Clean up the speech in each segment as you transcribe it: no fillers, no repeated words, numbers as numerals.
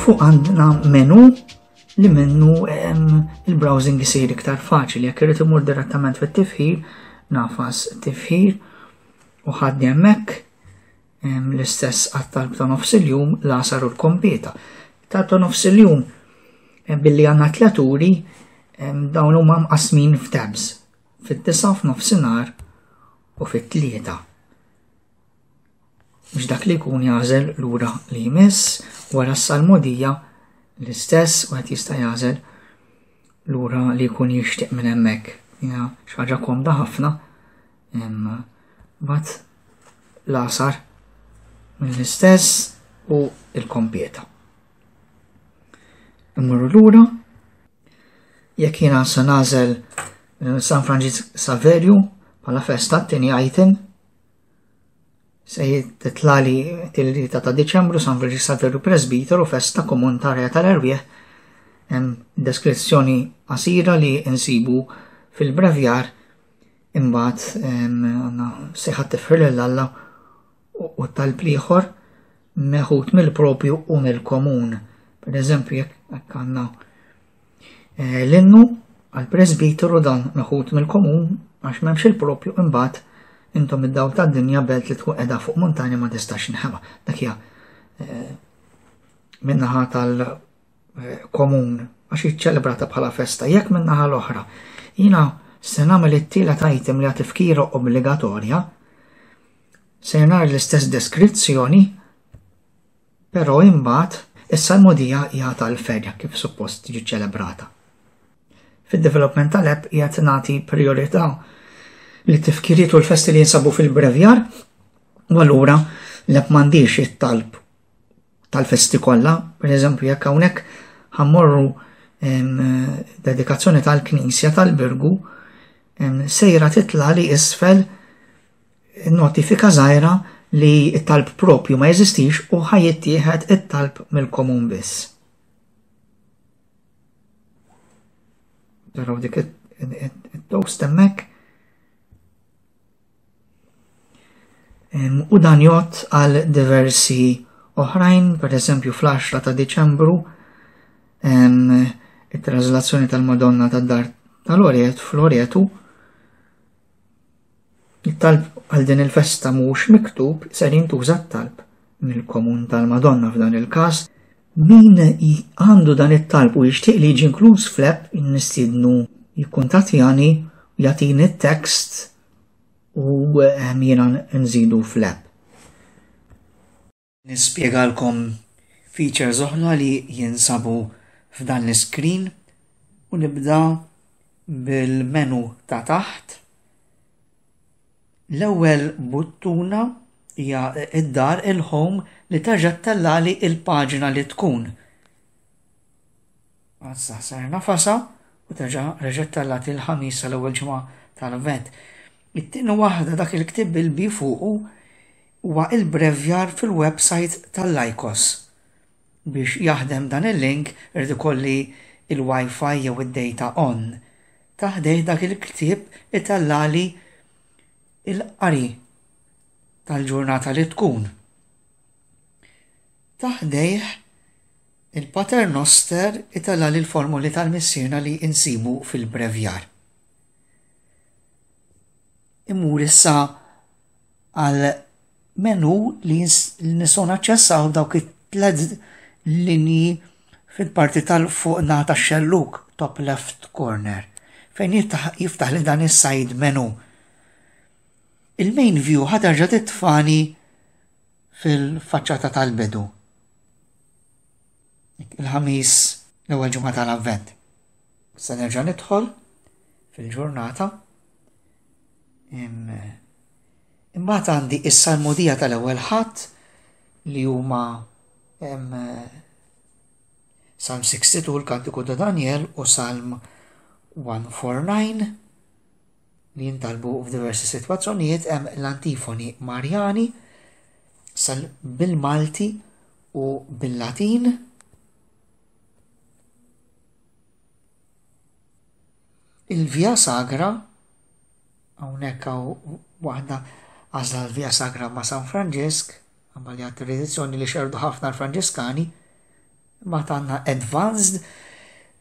Fuq għandna menu li minnu il-browsing isir iktar faċli. Jekk irid imur direttament fit-tifħir, nafas tifħir u ħadni hemmhekk l-istess għat-talb ta' nofs il-jum, l-għasar u l-kompita. Talb ta' nofs il-jum billi għandna tleturi dawn huma mqasmin f'tabs fit-tisa f'nofsinhar u fit-tlieta. Biex dak li jkun jagħżel lura li jmiss wara s-salmodija l-istess wieħed jista' jagħżel lura li jkun jixtieq minn hemmhekk. Hija xi ħaġa komda ħafna. Mbagħad l-għasar mill-istess u l-kompieta. Immorru lura jekk jiena se nagħżel eh, San Franġisk Saverju bħala festa t-tieni item Se titlali til-tlieta ta' Diċembru San Franġisk Saveru Presbiteru festa komuntarja tal-erwieħ hemm deskrizzjoni qasira li nsibu fil-brevjar imbagħad għandna sejħa tifħir lil Alla u talb ieħor meħud mill-propju u mill-komun. Per eżempju, jekk għandna Eh, l-innu għal-presbiteru dan meħud mill-komun għax m'hemmx il-propju imbagħad intom id-dawl tad-dinja belt li tkun qiegħda fuq muntanja ma tistax inħeba. Dak hija eh, minnaħa tal-komun għax iċċelebrata bħala festa. Jekk minnaħa l-oħra jiena se nagħmel it-tielet item li tifkira obbligatorja, se nar l-istess deskrizzjoni Però imbagħad is-salmodija hija tal-ferja kif suppost tiġi ċelebrata. Fid-development tal-app qiegħed nagħti priorità li tifkiriet u l-festi li jinsabu fil-brevjar u allura l-app m'għandix it-talb tal-festi kollha, per eżempju jekk hawnhekk ħammorru dedikazzjoni tal-Knisja tal-Birgu sejra titla li isfel notifika żgħira li t-talb propju ma jeżistix u ħa jittieħed it-talb mill-komun biss. Taraw dik it-toast hemmhekk. U dan jgħod għal diversi oħrajn, per eżempju fl-10 ta' Diċembru it-traslazzjoni tal-Madonna tad-Dar tal-Orjet fl-Orjetu It-talb għal din il-festa mhux miktub ser jintuża t-talb mill-Komun tal-Madonna f'dan il-każ. Min għandu dan it-talb u jixtieq li jiġi inkluż fl-app nistiednu jikkuntattjani u jagħtini t-tekst u ehm, jiena nżidu fl-app. Nispjegalkom features oħra li jinsabu f'dan l-iskrin u nibda bil-menu ta' taħt. L-ewwel buttuna hija id-dar il-home li terġa' ttellali il-paġna li tkun. Għazza sar nafasa u terġa' reġgħet tellat il-ħamis tal-ewwel ġimgħa tal-Avvent. It-tieni waħda dak il-ktieb bil-bi fuqu huwa il-brevjar fil-website tal-Lycos. Biex jaħdem dan il-link irid ikolli il-Wi-Fi jew id-data on. Ta' ħdejh dak il-ktieb itellali il-qari tal-ġurnata li tkun. Ta' ħdejh il-Pater Noster itellali l-formuli tal-Missierna li insibu fil-brevjar. Imur issa għal menu li nistgħu naċċessaw dawk it-tlet linji fil-parti tal-fuq naħa tax-xellug, top left corner, fejn jiftaħ li dan is-side menu. Il-main view ħaterġa' titfani fil-faċċata tal-bidu. Il-ħamis l-ewwel ġimgħa tal-Avvent. Se nerġa' nidħol fil-ġurnata. Imbagħad għandi is-salmodija tal-ewwel ħadd li huma Salm 62 l-Kantiku ta' Daniel u Salm 149 li jintalbu f'diversi sitwazzjonijiet hemm l-antifoni Marjani sal bil-Malti u bil-Latin. Il-Via Sagra, hawnhekk hawn waħda għażla l-Via Sagra ma' San Franġisk, għamma li tradizzjoni li xerdu ħafna l-Franġiskani. Imbagħad għandna Advanced,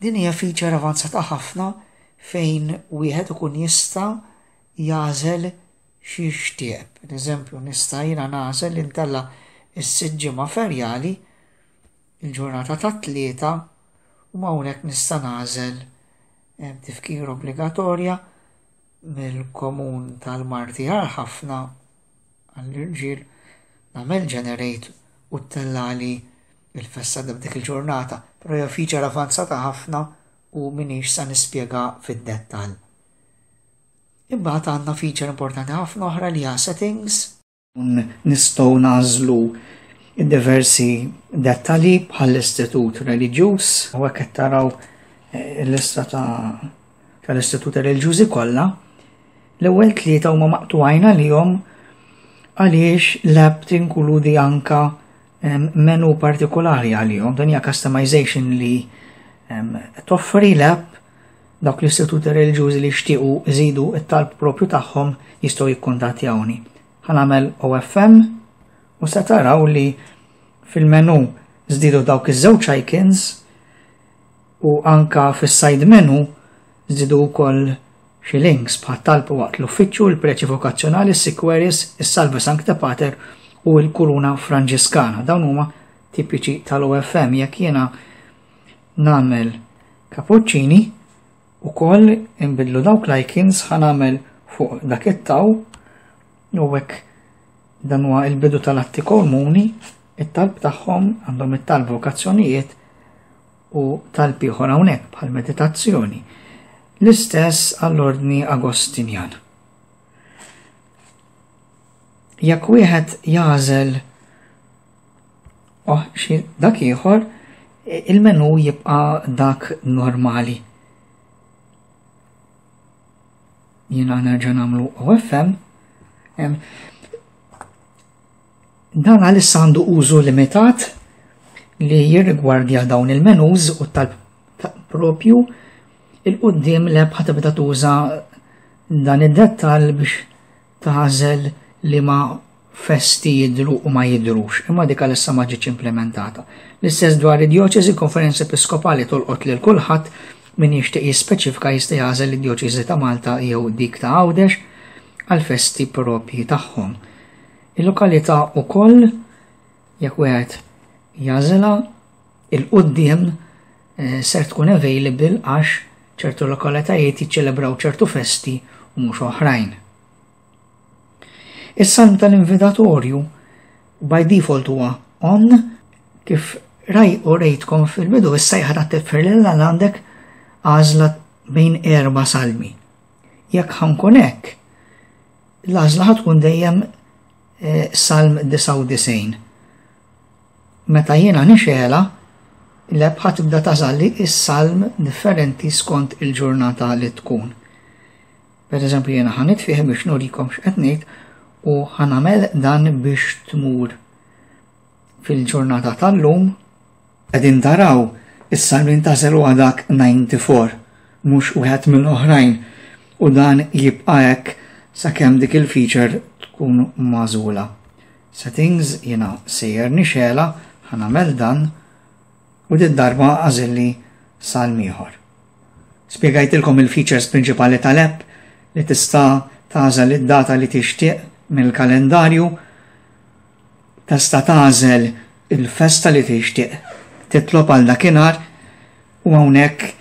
din hija feature avanzata ħafna fejn wieħed ikun jista' jagħżel x'jixtieq. Per eżempju, nista' jiena nagħżel li ntella' s-sitt ġimgħa ferjali il-ġurnata tat-Tlieta u hawnhekk nista' nagħżel eh, tifkir obbligatorja mill-komun tal-Marti għal ħafna għall-irġiel nagħmel generate u ttellali il-festa dik il-ġurnata, però hija feature avanzata ħafna u minix sa nispjega fid-dettall. Imbagħad għandna feature importanti ħafna oħra li hija settings. Nistgħu nagħżlu diversi dettalji bħall-istitut reliġjuż, u hekk qed taraw eh, l-lista tal-istituti reliġjużi kollha. L-ewwel tlieta huma maqtugħin għalihom għaliex l-app tinkludi anka menu partikolari għalihom. Dan hija customization li toffri l-app dawk l-istituti reliġjużi li jixtiequ iżidu t-talb propju tagħhom jistgħu jikkuntattjawni. Ħa nagħmel OFM u se taraw li fil-menu żdiedu dawk iż-żewġ icons u anka fis-side menu żdiedu wkoll xi links bħat talb waqt l-uffiċċju, il-preċi vokazzjonali, is-Siqueris, is-Salve Sancte Pater u l-Kuruna Franġiskana. Dawn huma tipiċi tal-OFM jekk jiena nagħmel kapuċċini ukoll inbidlu dawk l-icons ħa nagħmel fuq dak it-taw u hekk dan huwa il-bidu tal-atti komuni, it-talb tagħhom għandhom it-talb vokazzjonijiet u talb ieħor hawnhekk bħal meditazzjoni. L-istess għall-ordni Agostinjan. Jekk wieħed jagħżel oh, xi dak ieħor, il-menu jibqa' dak normali. Jiena nerġa' nagħmlu OFM. Dan għalissa għandu użu limitat li jirrigwardja dawn il-menus u talb propju il-qoddim l ħa tibda tuża dan id-dettal biex tagħżel li ma festi jidhru u ma jidhrux, imma dik għalissa ma ġietx implementata. L-istess dwar id-djoċesi, il-Konferenza Episkopali tolqot lil kulħadd min jixtieq jispeċifika jista' jagħżel id-djoċesi ta' Malta jew dik ta' Għawdex għal festi propji tagħhom. Il-lokalità ukoll jekk wieħed jagħżilha il-quddiem eh, ser tkun available għax ċertu lokalitajiet jiċċelebraw ċertu festi u mhux oħrajn. Is-salm tal-invitatorju by default huwa on kif raj u rejtkom fil-bidu is-sejħa ta' tiffer lil għandek għażla bejn erba' salmi. Jekk ħankun hekk, l-għażla tkun dejjem eh, salm 99. Meta jiena nixela, l-ebħa tibda tażalli is-salm differenti skont il-ġurnata li tkun. Per eżempju jiena ħa nitfih biex nurikom x'qed ngħid u ħa nagħmel dan biex tmur fil-ġurnata tal-lum qegħdin taraw issa li ntażel huwa dak 94 mhux wieħed mill-oħrajn u dan jibqa' hekk sakemm dik il-feature tkun magħżula. Settings jiena sejjer nixela ħa nagħmel dan u did-darba għażilli salm ieħor. Spjegajtilkom il-features prinċipali tal-app li tista' tagħżel id-data li tixtieq mill-kalendarju, tista' tagħżel il-festa li tixtieq titlob għal dakinhar u hawnhekk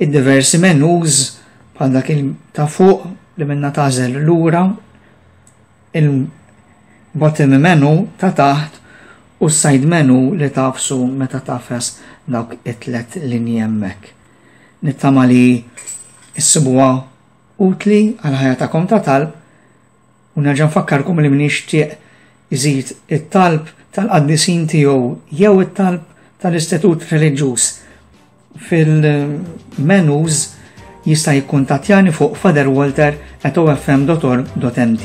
id-diversi menus bħal dak ta' fuq li minna tagħżel lura il-bottom menu ta' taħt u s-side menu li tafsu meta tafes dawk it-tlet linji hemmhekk. Nittama li issibuha utli għal ħajja tagħkom ta' talb u nerġa' nfakkarkom li min jixtieq iżid it-talb tal-qaddisin tiegħu jew it-talb tal-istitut reliġjuż fil-menus jista' jikkuntattjani fuq fatherwalter@ofm.org.mt.